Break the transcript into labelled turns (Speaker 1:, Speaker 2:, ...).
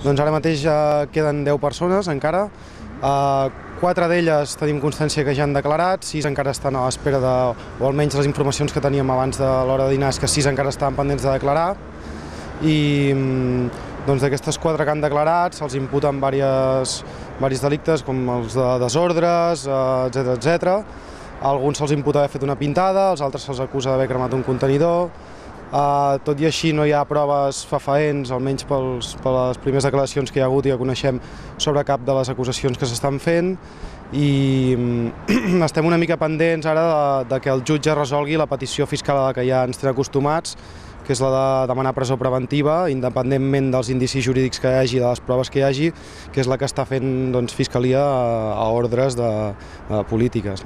Speaker 1: Doncs ara mateix queden 10 persones encara. 4 d'elles tenim constància que ja han declarat, 6 encara estan a l'espera de, o almenys les informacions que teníem abans de l'hora de dinar és que 6 encara estaven pendents de declarar. I doncs d'aquestes 4 que han declarat se'ls imputen diversos delictes com els de desordres, etc. Alguns se'ls imputa haver fet una pintada, els altres se'ls acusa d'haver cremat un contenidor. Tot i així no hi ha proves fefaents, almenys per les primeres declaracions que hi ha hagut i que coneixem sobre cap de les acusacions que s'estan fent, i estem una mica pendents ara de que el jutge resolgui la petició fiscal a la que ja ens tenen acostumats, que és la de demanar presó preventiva, independentment dels indicis jurídics que hi hagi, de les proves que hi hagi, que és la que està fent Fiscalia a ordres de polítiques.